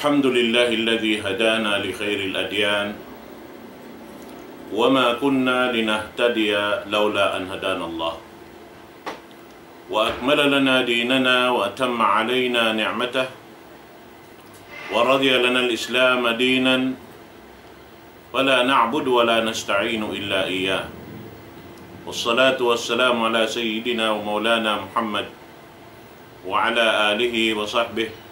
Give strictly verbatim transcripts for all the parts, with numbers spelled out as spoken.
الحمد لله الذي هدانا لخير الأديان وما كنا لنهتدي لولا أن هدانا الله وأكمل لنا ديننا وأتم علينا نعمته ورضي لنا الإسلام دينا فلا نعبد ولا نستعين إلا إياه. والصلاة والسلام على سيدنا ومولانا محمد وعلى آله وصحبه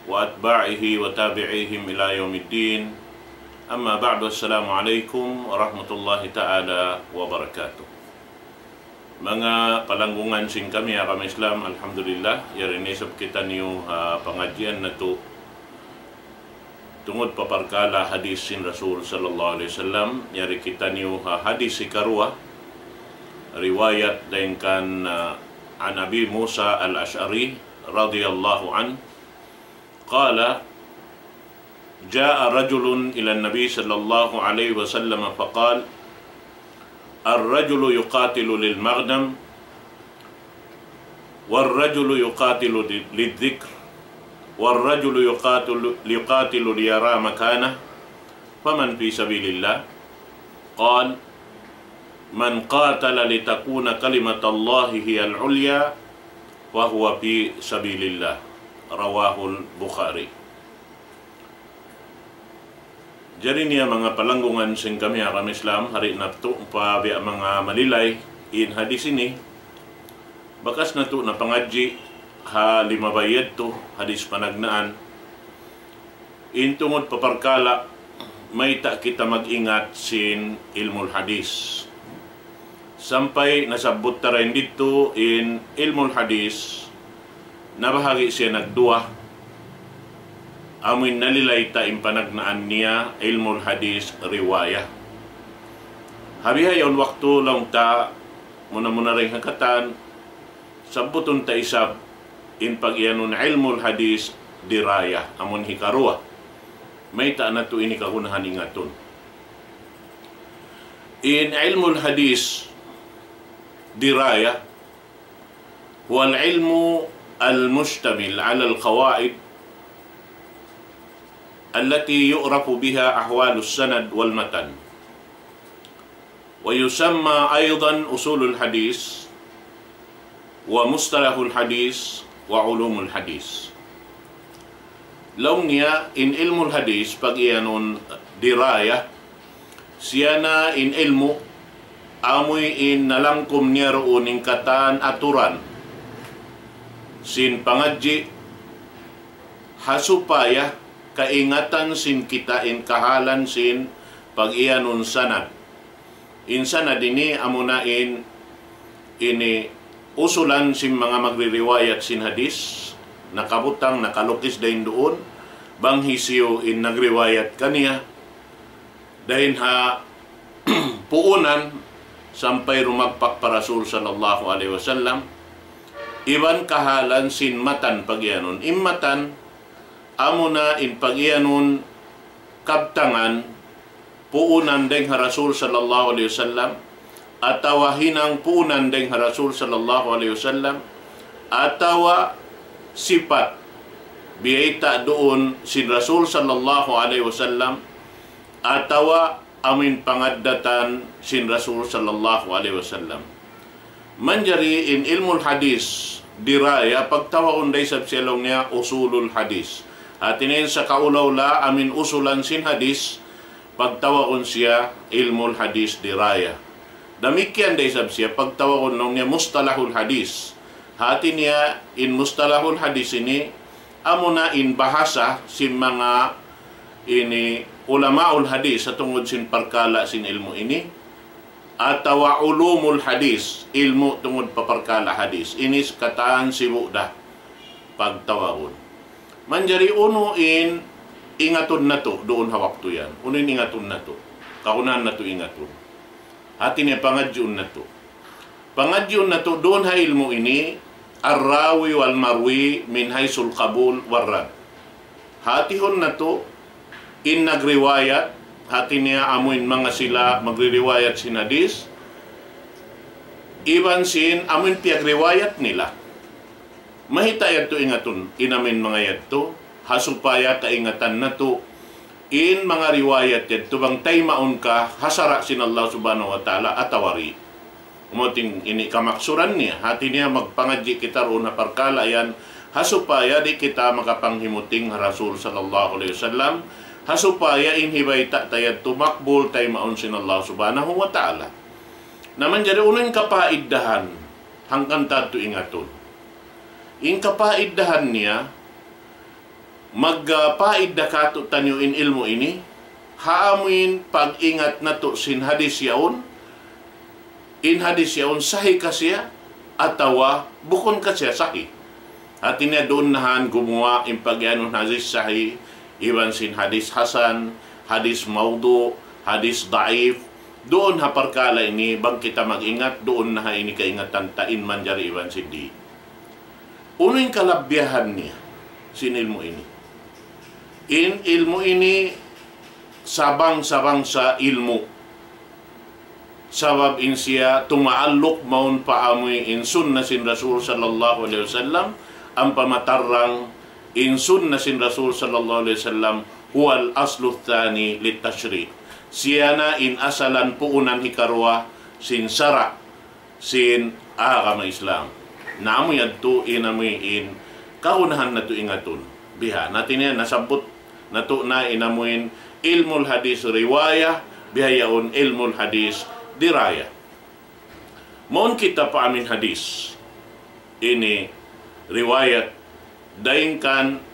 وأتباعه وتابعيهم إلى يوم الدين. أما بعد، السلام عليكم ورحمة الله تعالى وبركاته. Manga palanggungan sin kami agama Islam, alhamdulillah, yari na isab kitaniyu ha pangadjian natu' tungud pa parkala' hadis sin Rasul sallallahu alayhi wasallam, yari kitaniyu ha hadis hikaruwa, riwayat dayn kan, ah, عن أبي موسى الأشعري رضي الله عنه قال: جاء رجل إلى النبي صلى الله عليه وسلم فقال: الرجل يقاتل للمغنم، والرجل يقاتل للذكر، والرجل يقاتل، يقاتل ليرى مكانه، فمن في سبيل الله؟ قال: من قاتل لتكون كلمة الله هي العليا فهو في سبيل الله. رواه البخاري. Jari niya manga palanggungan sin kami agama Islam, hari natu' pa biya' manga malilay in hadis ini, bakas natu' na pangadji' ha limabay yadtu, hadis panagnaan. In tungud pa parkala', mayta' kita mag-ingat sin ilmul hadis. Sampay nasabbut ta dayn didtu in ilmul hadis, nabahagi' siya nagduwa, amuin nalilay ta in panagnaan niya ilmul hadis riwaya. Ha bihaun waktu laung ta muna-muna dayn ha katan, sabbutun ta isab in pag-iyanun ilmul hadis diraya, amun hikaruwa. Mayta' natu' ini kagunahan ingatun. In ilmul hadis diraya, هو العلم المشتمل على القواعد التي يعرف بها أحوال السند والمتن، ويسمى أيضا أصول الحديث ومصطلح الحديث وعلوم الحديث. Laung niya in ilmul hadis pag-iyanun diraya, siya na in ilmu' amuin nalangkum niya duun in katan aturan sin pangadji' ha supaya kaingatan sin kita in kahalan sin pag-iyanun sanad. In sanad ini amuna in ini usulan sin manga magririwayat sin hadis, nakabutang, nakalukis dayn duun, bang hisiyu in nagriwayat kaniya, dayn ha puunan sampay rumagpak pa Rasul sallallahu alayhi wasallam, iban kahalan sin matan pag-iyanun. In matan, amuna in pag-iyanun kabtangan, puunan dayn ha Rasul sallallahu alayhi wasallam, atawa hinang puunan dayn ha Rasul sallallahu alayhi wasallam, atawa sipat biyayta' duun sin Rasul sallallahu alayhi wasallam, atawa amuin pangaddatan sin Rasul sallallahu alayhi wasallam. Manjari in ilmul hadis diraya, pagtawagun da isab siya laung niya usulul hadis. Hati niya in sakaula-ula amuin usulan sin hadis, pagtawagun siya ilmul hadis diraya. Damikkiyan da isab siya pagtawagun laung niya mustalahul hadis. Hati niya in mustalahul hadis ini, amuna in bahasa sin manga ini ulamaul hadis ha tungud sin parkala' sin ilmu' ini, atawa ulumul hadis, ilmu' tungud pa parkala' hadis. Ini katan sibu' da pagtawagun. Manjari unu in ingatun natu' duun ha waktu yan. Unu in ingatun natu'. Kagunahan natu' ingatun. Hati niya pangadjiun natu'. Pangadjiun natu' duun ha ilmu' ini, الراوي والمروي من حيث القبول والرد. Hatihun natu' in nagriwayat, hati niya amuin manga sila magririwayat sin hadis, iban sin amuin piyagriwayat nila. Mayta' yadtu ingatun, in amuin manga yadtu, ha supaya kaingatan natu' in manga riwayat yadtu bang taymaun ka ha sara' sin Allah Subhanahu wa Ta'ala atawa di'. Amu in ini kamaksuran niya. Hati niya magpangadji' kita duun ha parkala' yan, ha supaya di' kita makapanghimuting ha Rasul sallallahu alayhi wasallam, ha supaya in hibayta' ta yadtu makbul taymaun sin Allah Subhanahu wa Ta'ala. Na manjari unu in kapaiddahan, hangkan ta yadtu ingatun. In kapaiddahan niya, magpaidda kātu'niyu in ilmu' ini, ha amuin pag-ingat natu' sin hadis yaun, in hadis yaun sahih ka siya, atawa bukun ka siya sahih. Hati niya duun na han gumuwa' in pag-iyanun hadis sahih, iban sin hadis hasan, hadis mawdu', hadis daif. Duun ha parkala' ini, bang kita mag-ingat, duun na ha ini kaingatan ta in manjari iban sin di'. Unu in kalabbiyahan niya sin ilmu' ini? In ilmu' ini sabang-sabang sa ilmu'. Sabab in siya tumaalluk mawn pa amuin sunna sin Rasul sallallahu alayhi wasallam, ampa matarrang in sunna sin Rasul sallallahu alayhi wasallam, هو الأصل الثاني للتشريع. Siya na in asalan puunan hikaruwa sin sara' sin agama Islam. Na amu yadtu in amuin kagunahan natu' ingatun. Biha, hati niya nasabbut natu' na in amuin ilmul hadis riwaya, bihaun ilmul hadis diraya. Mawn kita pa amuin hadis. Ini riwayat dayn kan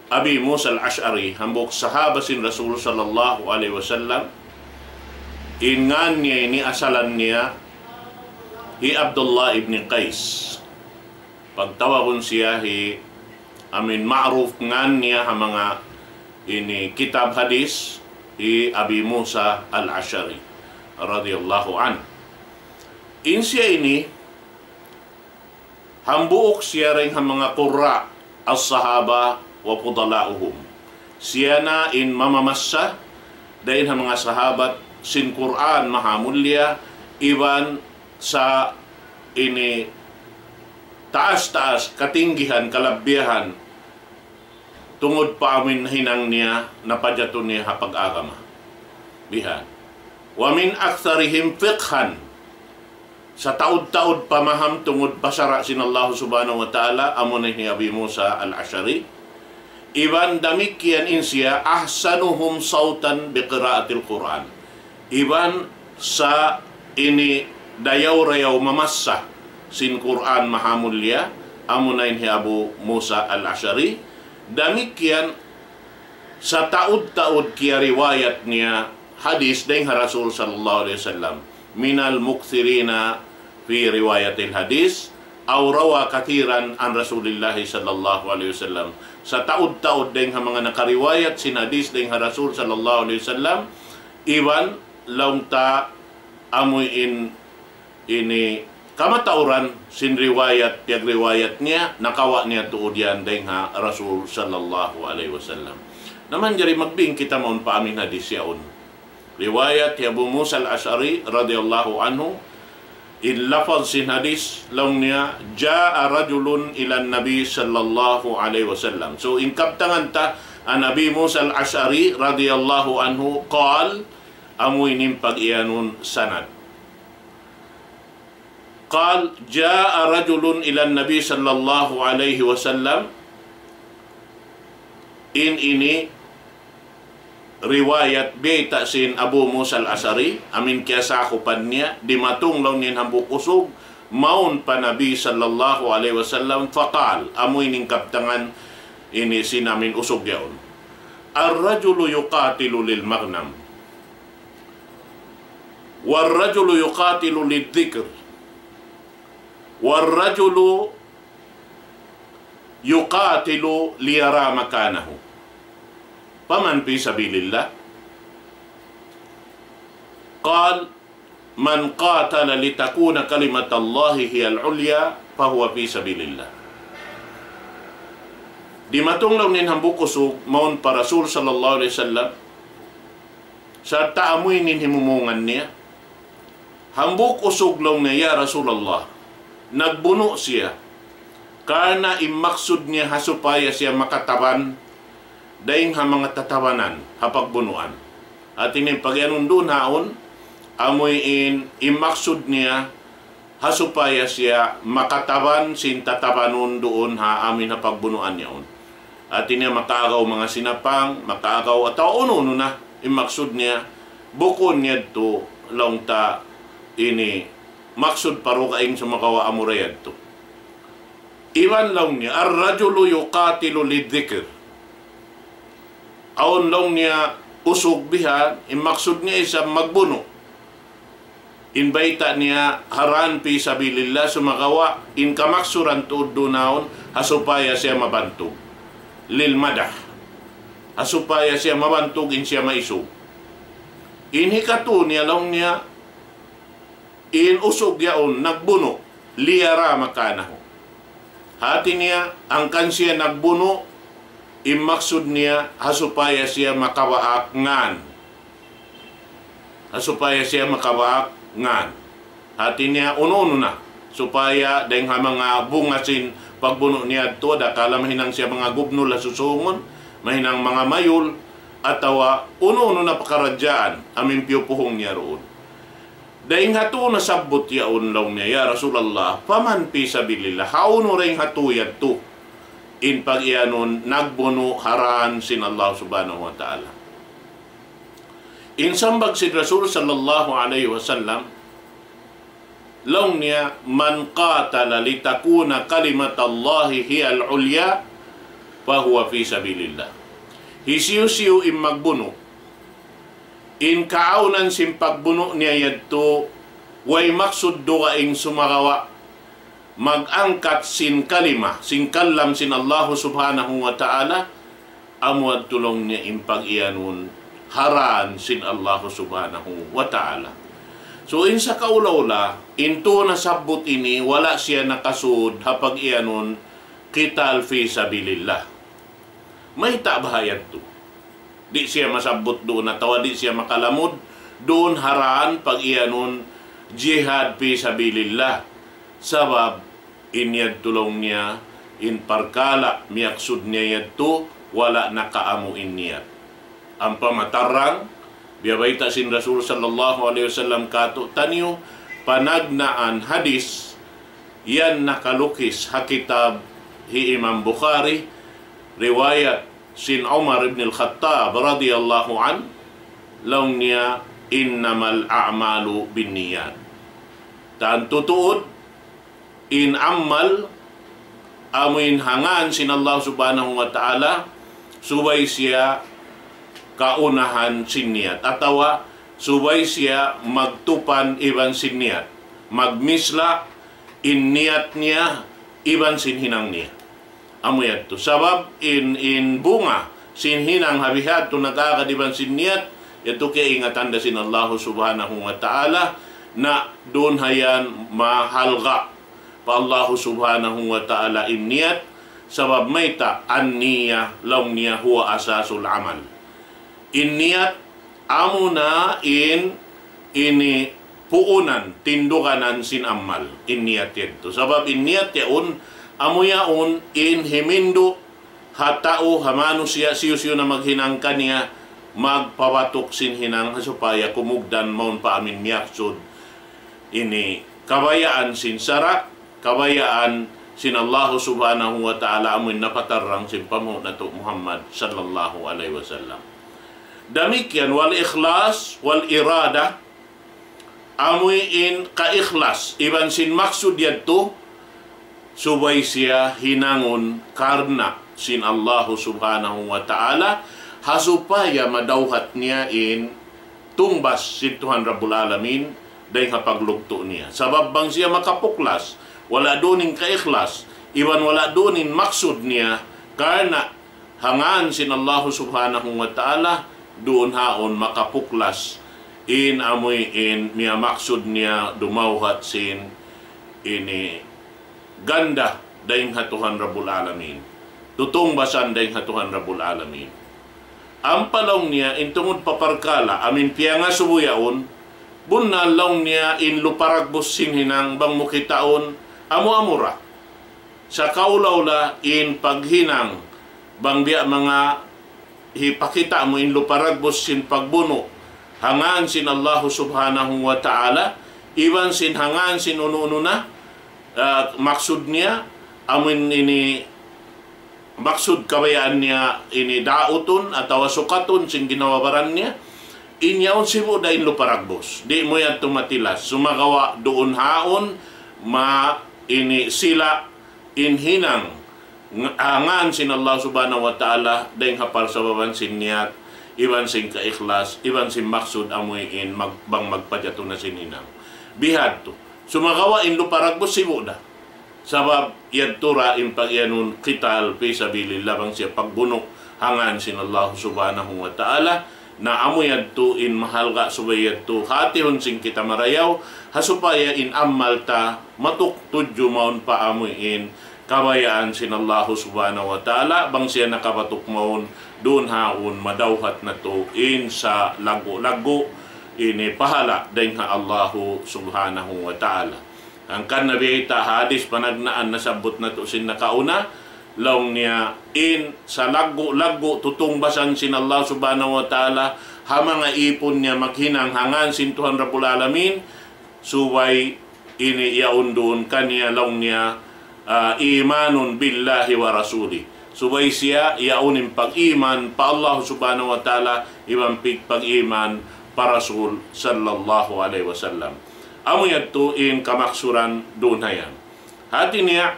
Abi Musa al-Ash'ari, hambuuk sahaba sin Rasul sallallahu alayhi wasallam, in ngan niya ini asalan niya hi Abdullah ibn Qais. Pagtawagun siya hi, amuin ma'ruf ngan niya ha manga ini kitab hadis, hi Abi Musa al-Ash'ari radiyallahu anhu. In siya ini, hambuuk siya dayn ha manga qurra as-sahaba wa fudala'uhum. Siya na in mamamassa dayn ha manga sahabat sin Qur'an mahamulliya, iban sa ini taas-taas, katinggihan, kalabbiyahan, tungud pa amuin hinang niya, napajatu niya ha pag-agama. Bihan. ومن أكثرهم فقها. Sataud-taud pamaham tungud pa sara' sin Allah Subhanahu wa Ta'ala, amuna hi Abi Musa al-Ash'ari. Iban damikkiyan in siya أحسنهم صوتا بقراءة القرآن. Iban sa ini dayaw-rayaw mamassa sin Qur'an mahamulliya, amuna in hi Abu Musa al-Ash'ari. Damikkiyan sataud-taud kiyariwayat niya hadis dayn ha Rasul sallallahu alayhi wasallam. من المكثرين في رواية الحديث أو روى كثيرا عن رسول الله صلى الله عليه وسلم. Sataud-taud dayn ha manga nakariwayat sin hadis dayn ha Rasul sallallahu alayhi wasallam, iban laung ta amuin ini kamatauran sin riwayat, piyagriwayat niya, nakawa' niya tuud yan dayn ha Rasul sallallahu alayhi wasallam. Na manjari magbing kita mawn pa amuin hadis yaun. Riwayat hi Abu Musa al-Ash'ari radiyallahu anhu, in lafaz sin hadis, laung niya, جاء رجل إلى النبي صلى الله عليه وسلم. So, in kabtangan ta, عن أبي موسى الأشعري رضي الله عنه قال, amu ini in pag-iyanun sanad. قال: جاء رجل إلى النبي صلى الله عليه وسلم. In ini riwayat bayta' sin Abu Musa al-Ash'ari, amuin kiyasakupan niya, dimatung laung niya in hambuuk usug, mawn pa Nabi sallallahu alayhi wasallam, فقال, amu ini in kabtangan ini sin amuin usug yaun. الرجل يقاتل للمغنم. والرجل يقاتل للذكر. والرجل يقاتل ليرى مكانه. فمن في سبيل الله؟ قال: من قاتل لتكون كلمة الله هي العليا فهو في سبيل الله. Dimatung laung niya in hambuuk usug, mawn pa Rasul sallallahu alayhi wasallam, sarta' amu ini in himumungan niya. Hambuuk usug laung niya, "Ya Rasulullah, nagbunu' siya. Karna' in maksud niya ha supaya siya makataban dayn ha manga tatabanan ha pagbunuan. Hati niya in pagiyanun duun haun, amuin in maksud niya ha supaya siya makataban sin tatabanun duun ha amuin ha pagbunuan yaun. Hati niya makaagaw manga sinapang, makaagaw atawa unu-unu na in maksud niya, bukun yadtu laung ta ini maksud pa dugaing sumagawa' amura yadtu. Iban laung niya, الرجل يقاتل للذكر. Awn laung niya usug bihan, in maksud niya isab magbunu'. In bayta' niya ha raan fi sabilillah, sumagawa' in kamaksuran tuud duun haun, ha supaya siya mabantug. للمدح. Ha supaya siya mabantug in siya maisug. In hikatu niya laung niya, in usug yaun nagbunu', ليرى مكانه. Hati niya, hangkan siya nagbunu', in maksud niya, ha supaya siya makabaak ngan. Ha supaya siya makabaak ngan. Hati niya, unu-unu na. Supaya dayn ha manga bunga sin pagbunu' niya yadtu, adakala mahinang siya manga gubnul ha susungun, mahinang manga mayul, atawa unu-unu na pakaradjaan, amuin piyupuhung niya duun. Dayn ha tū nasabbut yaun laung niya, "Ya Rasulullah, فمن في سبيل الله, hawnu dayn ha tū yadtu in pagiyanun nagbunu' ha raan sin Allah Subhanahu wa Ta'ala?" In sambag sin Rasul sallallahu alayhi wasallam, laung niya, "من قاتل لتكون كلمة الله هي العليا فهو في سبيل الله." Hisiyu-siyu in magbunu', in kaawnan sin pagbunu' niya yadtu, way maksud dugaing sumagawa' mag-angkat sin kalima, sin kalam sin Allahu Subhanahu wa Ta'ala, amu yadtu laung niya in pagiyanun ha raan sin Allahu Subhanahu wa Ta'ala. So, in sakaula-ula, in tū nasabbut ini, wala' siya nakasud ha pagiyanun qital fi sabilillah. Mayta' baha' yadtu? Di' siya masabbut duun atawa di' siya makalamud duun ha raan pagiyanun jihad fi sabilillah. Sabab in yadtu laung niya, in parkala' miyaksud niya yadtu, wala' nakaamu in niyat. Ampa matarrang, biya' bayta' sin Rasul sallallahu alayhi wasallam kātu'niyu, panagnaan hadis, yan nakalukis ha kitab hi Imam Bukhari, riwayat sin Umar ibn al-Khattab radiyallahu anhu, laung niya, إنما الأعمال بالنيات. Tantu tuud, in amal, amuin ha ngān sin Allah Subhanahu wa Ta'ala, subay siya kaunahan sin niyat. Atawa, subay siya magtupan iban sin niyat. Magmisla' in niyat niya iban sin hinang niya. Amu yadtu. Sabab in, in bunga sin hinang ha bihadtu nag-agad iban sin niyat, yadtu kaingatan da sin Allahu Subhanahu wa Ta'ala, na duun ha yan mahalga' pa Allahu Subhanahu wa Ta'ala in niyat, sabab mayta', النية, laung niya, هو أساس العمل. In niyat, amuna in ini puunan, tinduganan sin amal, in niyat yadtu. Sabab in niyat yaun, amu yaun in himindu' ha tau, ha manusiya', siyu-siyu na maghinang kaniya, magpabatuk sin hinang ha supaya kumugdan mawn pa amuin miyaksud ini kabayaan sin sara', kabayaan sin Allahu Subhanahu wa Ta'ala amuin napatarrang sin panghu' natu' Muhammad sallallahu alayhi wasallam. Damikkiyan والإخلاص والإرادة, amuin kaikhlas, iban sin maksud yadtu, subay siya hinangun karna' sin Allahu Subhanahu wa Ta'ala, ha supaya madawhat niya in tungbas sin Tuhan Rabbul Alamin, dayn ha paglugtu' niya. Sabab bang siya makapuklas, wala' duun in kaikhlas, iban wala' duun in maksud niya, karna' ha ngān sin Allahu Subhanahu wa Ta'ala, duun haun makapuklas in amuin miyamaksud niya dumawhat sin ini ganda dayn ha Tuhan Rabbul Alamin. Tutungbasan dayn ha Tuhan Rabbul Alamin. Ampa laung niya, in tungud pa parkala' amuin piyangasubu yaun, bunnal laung niya in luparagbus sin hinang bang mu kitaun amu-amu ra. Sakaula-ula in paghinang bang biya' manga hipakita' mu in lupa dagbus sin pagbunu' ha ngan sin Allahu Subhanahu wa Ta'ala, iban sin ha ngan sin unu-unu na, ah, maksud niya, amuin ini maksud kabayaan niya ini dautun atawa sukatun sin ginhawa-baran niya, in yaun sibu' da in lupa dagbus. Di' mu yadtu matilas. Sumagawa' duun haun ma ini sila in hinang ng-, ah, ngan sin Allah Subhanahu wa Ta'ala, dayng ha parsababan sin niyat, iban sin kaikhlas, iban sin maksud amuin mag-, bang magpajatu na sin hinang. Bihadtu. Sumagawa' in lupa dagbus sibu' da. Sabab yadtu ra in pag-iyanun qital fi sabilillah, bang siya pagbunu' ha ngan sin Allah Subhanahu wa Ta'ala, na amu yadtu in mahalga' subay yadtu hatihun sin kita marayaw, ha supaya in amal ta matuk tudju mawn pa amuin kabayaan sin Allah Subhanahu wa Ta'ala, bang siya nakabatuk mawn duun haun madawhat natu' in sa laggu'-laggu' ini pahala dayng ha Allah Subhanahu wa Ta'ala. Hangkan na biyayta' hadis panagnaan nasabbut natu' sin nakauna, laung niya in sa laggu'-laggu' tutungbasan sin Allah Subhanahu wa Ta'ala, ha manga ipun niya maghinang ha ngan sin Tuhan Rabbul Alamin, subay ini yaun duun kaniya laung niya, ah, imanun billahi wa rasuli. Subay siya yaun in pag-iman pa Allah Subhanahu wa Ta'ala, iban pig pag-iman pa Rasul sallallahu alayhi wasallam. Amu yadtu in kamaksuran duun hayan. Hati niya,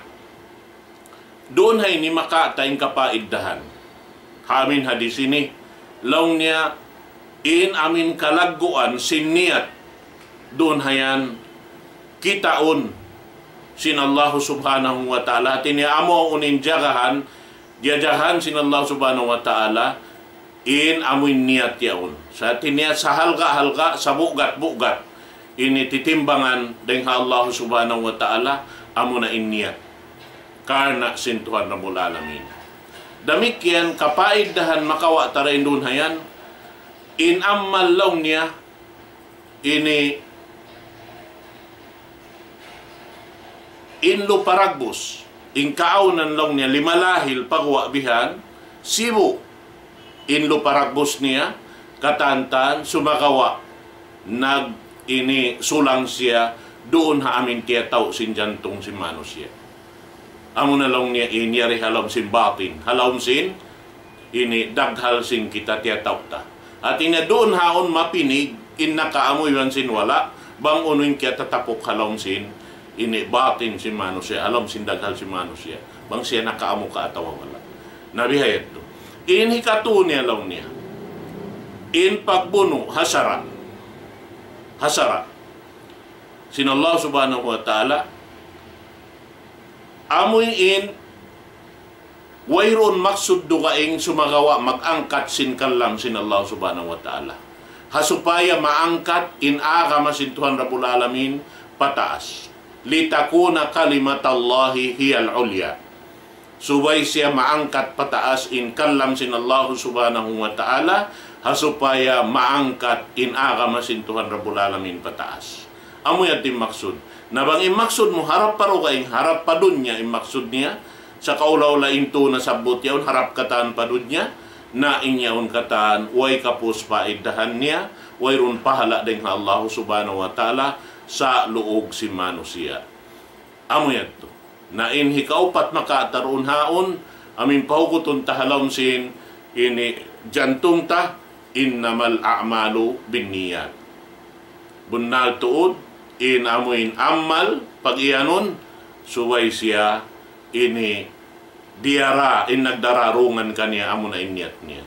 duun ha ini makawa' ta in kapaiddahan. Ha amin hadis ini, laung niya in amin kalagguan sin niyat duun hayan kitaun sin Allah Subhanahu wa Ta'ala. Hati niya amu in jagahan, jajagahan sin Allah Subhanahu wa Ta'ala, in amuin niyat yaun. Sa' hati niya sa halga'-halga', sa bugat-bugat. Ini titimbangan dayng ha Allah Subhanahu wa Ta'ala, amuna in niyat. Karna' sin Tuhan Rabbul Alamin. Damikkiyan kapaiddahan makawa' ta dayn duun hayan, in amal laung niya, ini in lupa dagbus, in kaawnan laung niya lima lahil paguwa' bihan, sibu' in lupa dagbus niya, katan-katan sumagawa' nag ini sulang siya duun ha amin tiyatau' sin jantung sin manusiya'. Amuna laung niya in yari ha lawm sin batin, ha lawm sin ini daghal sin kita tiyatau' ta. Hati niya duun haun mapinig in nakaamu iban sin wala', bang unu in kiyatatapuk ha lawm sin ini batin sin manusiya', ha lawm sin daghal sin manusiya'. Bang siya nakaamu ka atawa wala'. Na bihayadtu. In hikatu niya laung niya. In pagbunu' ha sara'. Ha sara'. Sin Allah Subhanahu wa Ta'ala, amuin wayruun maksud dugaing sumagawa' mag-angkat sin kalam sin Allah Subhanahu wa Ta'ala. Ha supaya maangkat in agama sin Tuhan Rabbul Alamin pataas. لتكون كلمة الله هي العليا. Subay siya maangkat pataas in kalam sin Allah Subhanahu wa Ta'ala, ha supaya maangkat in agama sin Tuhan Rabbul Alamin pataas. Amu yan in maksud. Na bang in maksud mu harap pa dugaing, harap pa dunya in maksud niya, sa' kaula-ula in tu nasabbut yaun harap katan pa dunya, na in yaun katan, way kapus paiddahan niya, wayruun pahala' dayng ha Allah Subhanahu wa Ta'ala, sa' luug sin manusiya'. Amu yadtu. Na in hikaupat makatarun haun, amin pahugutun ta ha lawm sin ini jantung ta, إنما الأعمال بالنيات. Bunnal tuud, in amuin amal, pag-iyanun, subay siya ini diyara, in nagdararungan kaniya, amuna in niyat niya.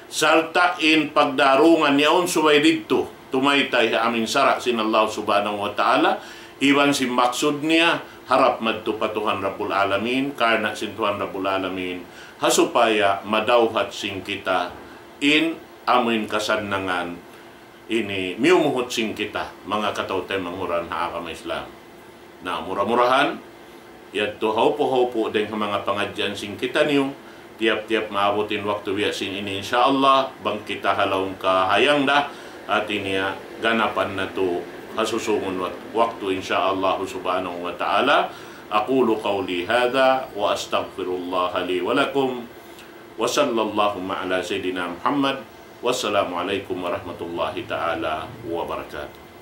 Sarta' in pagdarungan niya yaun subay didtu, tumaytay ha amin sara' sin Allah Subhanahu wa Ta'ala, iban sin maksud niya, harap madtu pa Tuhan Rabbul Alamin, karna' sin Tuhan Rabbul Alamin, ha supaya madawhat sin kita, in amuin kasannangan, ini miyumuhut sin kita, manga kataw-taymanghuran ha agama Islam. Na mura-murahan, yadtu hawpu-hawpu dayng ha manga pangadjian sin kitaniyu, tiyap-tiyap maabut in waktu biya' sin ini, insya Allah, bang kita ha lawm kahayang da, hati niya ganapan natu' ha susungun wak-, waktu, insya Allah subhanahu wa ta'ala. أقول قولي هذا وأستغفر الله لي ولكم. وصلى اللهم على سيدنا محمد. والسلام عليكم ورحمة الله تعالى وبركاته.